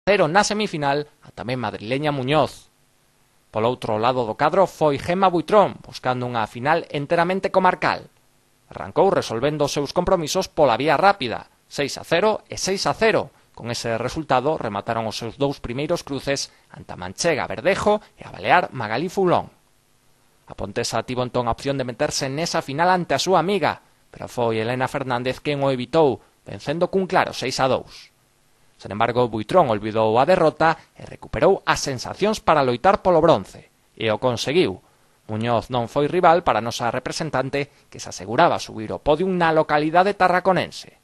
0 na semifinal a tamén madrileña Muñoz. Polo outro lado do cadro foi Gemma Buitrón, buscando unha final enteramente comarcal. Arrancou resolvendo os seus compromisos pola vía rápida, 6-0 e 6-0. Con ese resultado remataron os seus dous primeiros cruces ante a manchega Verdejo e a balear Magalí Foulón. A pontesa tivo entón a opción de meterse nesa final ante a súa amiga, pero foi Elena Fernández quen o evitou, vencendo cun claro 6-2. Sen embargo, Buitrón olvidou a derrota e recuperou as sensacións para loitar polo bronce, e o conseguiu. Muñoz non foi rival para a nosa representante, que se aseguraba subir ao podium na localidade tarraconense.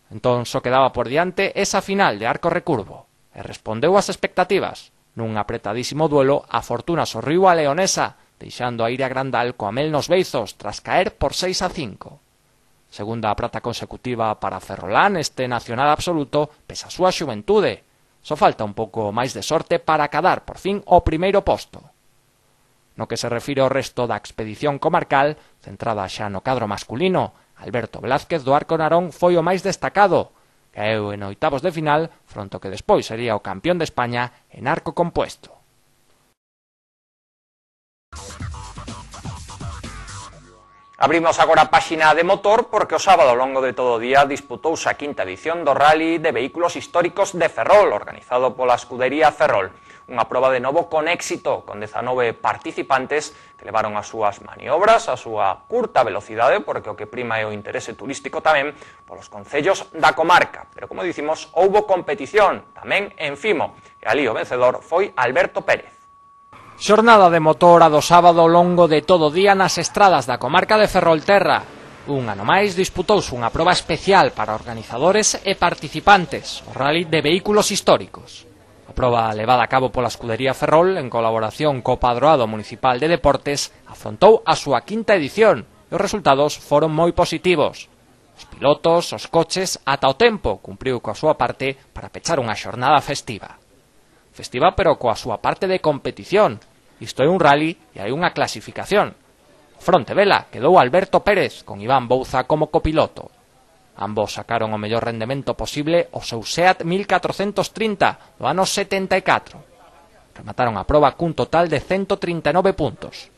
Entón só quedaba por diante esa final de arco recurvo, e respondeu ás expectativas. Nun apretadísimo duelo, a fortuna sorriu a leonesa, deixando a Iria Grandal coa mel nos beizos tras caer por 6-5. Segunda prata consecutiva para Ferrolán, este nacional absoluto, pese a súa xuventude. Só falta un pouco máis de sorte para acadar, por fin, o primeiro posto. No que se refire ao resto da expedición comarcal, centrada xa no cadro masculino, Alberto Velázquez do Arco Narón foi o máis destacado. Caeu en oitavos de final, fronte ao que despois sería o campeón de España en arco compuesto. Abrimos agora a páxina de motor porque o sábado ao longo de todo o día disputouse a quinta edición do Rally de Vehículos Históricos de Ferrol, organizado pola escudería Ferrol. Unha proba de novo con éxito, con 19 participantes que levaron as súas maniobras, a súa curta velocidade, porque o que prima é o interese turístico tamén, polos concellos da comarca. Pero, como dicimos, houbo competición tamén en Fimo, e ali o vencedor foi Alberto Pérez. Xornada de motor a do sábado ao longo de todo o día nas estradas da comarca de Ferrolterra. Un ano máis disputouse unha proba especial para organizadores e participantes, o Rally de Vehículos Históricos. A proba levada a cabo pola escudería Ferrol en colaboración co Padroado Municipal de Deportes afrontou a súa quinta edición e os resultados foron moi positivos. Os pilotos, os coches, ata o tempo cumpriu coa súa parte para pechar unha xornada festiva. Festiva pero coa súa parte de competición. Isto é un rally e hai unha clasificación. Fronte vela quedou Alberto Pérez con Iván Bouza como copiloto. Ambos sacaron o mellor rendemento posible o seu Seat 1430 do ano 74. Remataron a proba cun total de 139 puntos.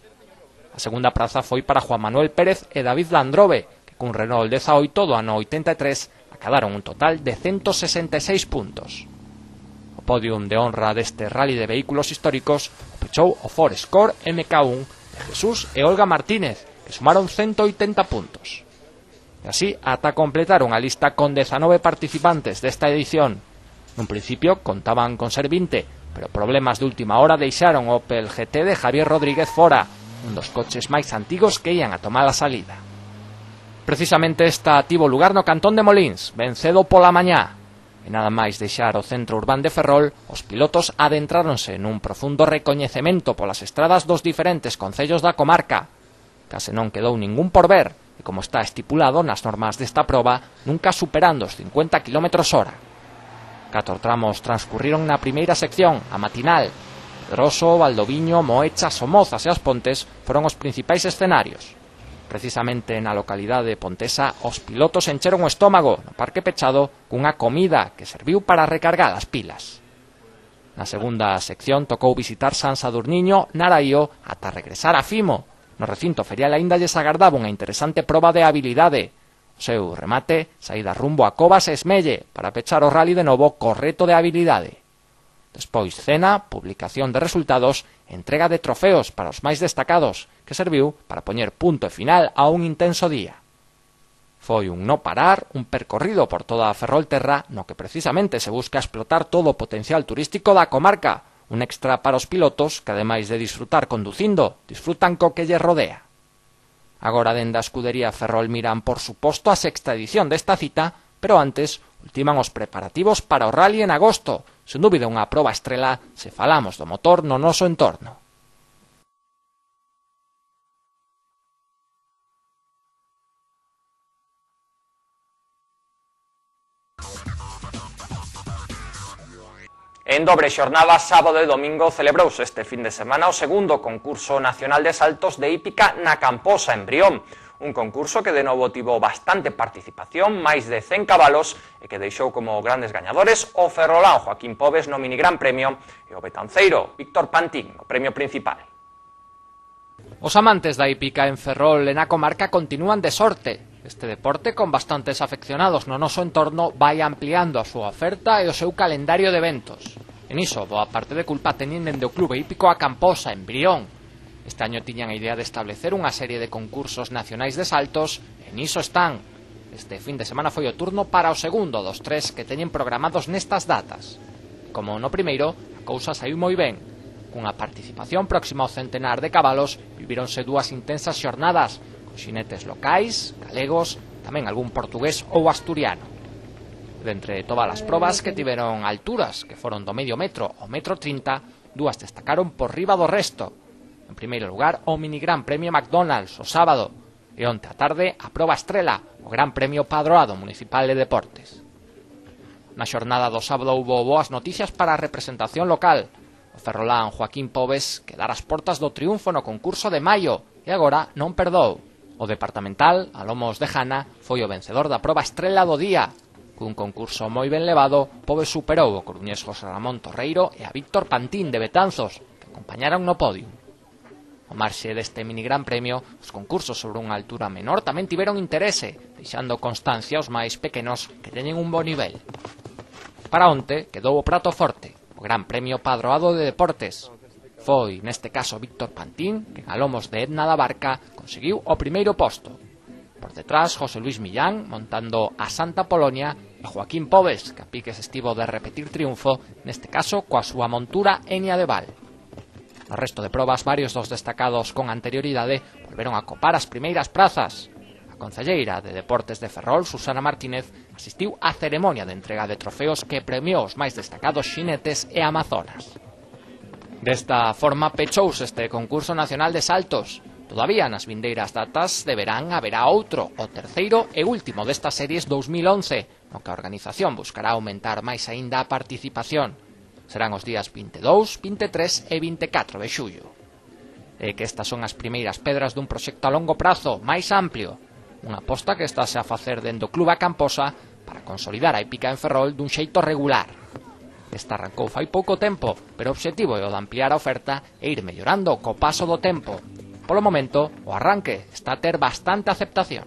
A segunda praza foi para Juan Manuel Pérez e David Landrove, que cun Renault 18 do ano 83 acadaron un total de 166 puntos. O podium de honra deste rally de vehículos históricos o pechou o Ford Escort MK1 de Jesús e Olga Martínez, que sumaron 180 puntos. E así ata completar unha lista con 19 participantes desta edición. Nun principio contaban con ser 20, pero problemas de última hora deixaron o Opel GT de Javier Rodríguez fora, un dos coches máis antigos que ian a tomar a salida. Precisamente esta tivo lugar no cantón de Molins, ben cedo pola mañá. E nada máis deixar o centro urbán de Ferrol, os pilotos adentráronse nun profundo recoñecemento polas estradas dos diferentes concellos da comarca. Case non quedou ningún por ver, e como está estipulado nas normas desta proba, nunca superando os 50 km/h. 4 tramos transcurriron na primeira sección, a matinal. Pedroso, Valdoviño, Moecha, Somozas e As Pontes foron os principais escenarios. Precisamente na localidade pontesa, os pilotos encheron o estómago no parque pechado cunha comida que serviu para recargar as pilas. Na segunda sección tocou visitar San Sadurniño, Naraío, ata regresar a Fimo. No recinto ferial aínda lles agardaba unha interesante proba de habilidade. O seu remate, saída rumbo a Covas e Esmelle, para pechar o rally de novo co reto de habilidade. Despois cena, publicación de resultados, entrega de trofeos para os máis destacados, que serviu para poñer punto e final a un intenso día. Foi un no parar, un percorrido por toda a Ferrolterra no que precisamente se busca explotar todo o potencial turístico da comarca, un extra para os pilotos que, ademais de disfrutar conducindo, disfrutan co que lle rodea. Agora, dende a escudería Ferrol miran, por suposto, a sexta edición desta cita, pero antes ultiman os preparativos para o rally en agosto, sen dúbida unha proba estrela se falamos do motor no noso entorno. En dobre xornada, sábado e domingo, celebrouse este fin de semana o segundo concurso nacional de saltos de hípica na Camposa, en Brión. Un concurso que de novo tivo bastante participación, máis de 100 cabalos, e que deixou como grandes gañadores o ferrolán Joaquín Pobes no minigran premio e o betanceiro Víctor Pantín no premio principal. Os amantes da hípica en Ferrol e na comarca continúan de sorte. Este deporte, con bastantes afeccionados no noso entorno, vai ampliando a súa oferta e o seu calendario de eventos. En iso, boa parte de culpa teñen dende o Clube Hípico A Camposa, en Brión. Este año tiñan a idea de establecer unha serie de concursos nacionais de saltos, e niso están. Este fin de semana foi o turno para o segundo dos 3 que teñen programados nestas datas. Como no primeiro, a cousa saiu moi ben. Cunha participación próxima ao centenar de cabalos, vivíronse 2 intensas xornadas, con xinetes locais, galegos, tamén algún portugués ou asturiano. De entre todas as probas que tiveron alturas, que foron do medio metro ao metro 30, 2 destacaron por riba do resto. En primeiro lugar, o minigran premio McDonald's o sábado, e onte á tarde a proba estrela, o Gran Premio Padroado Municipal de Deportes. Na xornada do sábado houbo boas noticias para a representación local. O ferrolán Joaquín Pobes quedara as portas do triunfo no concurso de maio e agora non perdou. O departamental, a lomos de Jana, foi o vencedor da proba estrela do día. Cun concurso moi ben levado, Pobes superou o coruñés José Ramón Torreiro e a Víctor Pantín de Betanzos, que acompañaron no podio. Ao marxe deste minigran premio, os concursos sobre unha altura menor tamén tiveron interese, deixando constancia os máis pequenos que teñen un bo nivel. Para onte quedou o prato forte, o Gran Premio Padroado de Deportes. Foi, neste caso, Víctor Pantín, que a lomos de Edna da Barca conseguiu o primeiro posto. Por detrás, José Luis Millán, montando a Santa Polonia, e Joaquín Pobes, que a piques estivo de repetir triunfo, neste caso coa súa montura Enia de Val. No resto de probas, varios dos destacados con anterioridade volveron a copar as primeiras prazas. A concelleira de Deportes de Ferrol, Susana Martínez, asistiu á ceremonia de entrega de trofeos que premiou os máis destacados xinetes e amazonas. Desta forma pechouse este concurso nacional de saltos. Todavía nas vindeiras datas de verán haberá outro, o terceiro e último destas series 2011, no que a organización buscará aumentar máis aínda a participación. Serán os días 22, 23 e 24 de xullo. E que estas son as primeiras pedras dun proxecto a longo prazo, máis amplio. Unha aposta que estase a facer dentro do Clube A Camposa para consolidar a hípica en Ferrol dun xeito regular. Esta arrancou fai pouco tempo, pero o obxectivo é o de ampliar a oferta e ir mellorando co paso do tempo. Polo momento, o arranque está a ter bastante aceptación.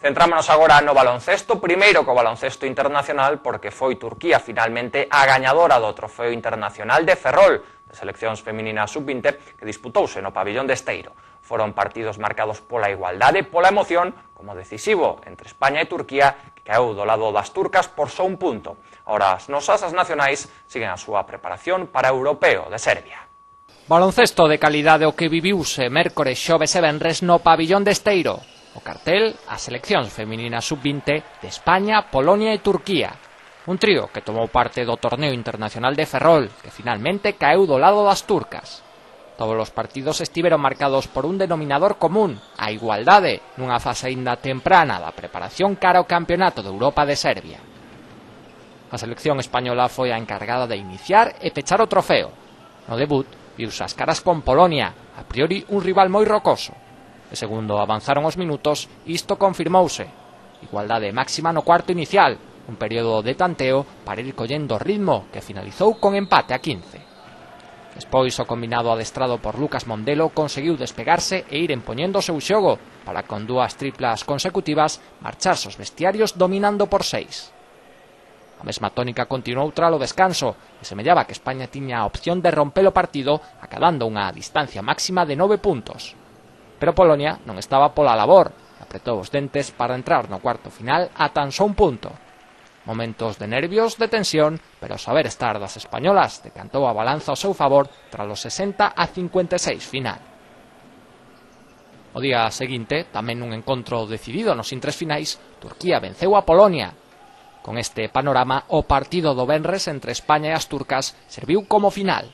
Centrámonos agora no baloncesto, primeiro co baloncesto internacional, porque foi Turquía finalmente a gañadora do Trofeo Internacional de Ferrol, de seleccións femininas sub-20, que disputouse no pabillón de Esteiro. Foron partidos marcados pola igualdade e pola emoción, como decisivo entre España e Turquía, que caeu do lado das turcas por só un punto. Ora, as nosas nacionais siguen a súa preparación para o Europeo de Serbia. Baloncesto de calidade o que viviuse mércores, xoves e venres no pabillón de Esteiro. O cartel, as seleccións femininas sub-20 de España, Polonia e Turquía. Un trío que tomou parte do torneo internacional de Ferrol, que finalmente caeu do lado das turcas. Todos os partidos estiveron marcados por un denominador común, a igualdade, nunha fase aínda temprana da preparación cara ao Campeonato de Europa de Serbia. A selección española foi a encargada de iniciar e pechar o trofeo. No debut, viuse as caras con Polonia, a priori un rival moi rocoso. E segundo avanzaron os minutos, isto confirmouse. Igualdade máxima no cuarto inicial, un período de tanteo para ir collendo ritmo que finalizou con empate a 15. Despois o combinado adestrado por Lucas Mondelo conseguiu despegarse e ir empoñendo o seu xogo para con 2 triplas consecutivas marcharse os vestiarios dominando por 6. A mesma tónica continuou tralo descanso e semellaba que España tiña a opción de romper o partido acadando unha distancia máxima de 9 puntos. Pero Polonia non estaba pola labor e apretou os dentes para entrar no cuarto final a tan só un punto. Momentos de nervios, de tensión, pero o saber estar das españolas decantou a balanza ao seu favor tras os 60 a 56 final. O día seguinte, tamén nun encontro decidido nos intres finais, Turquía venceu a Polonia. Con este panorama, o partido do venres entre España e as turcas serviu como final.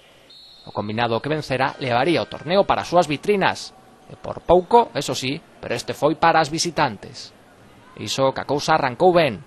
O combinado que vencera levaría o torneo para as súas vitrinas, e por pouco, eso sí, pero este foi para as visitantes. Iso que a cousa arrancou ben.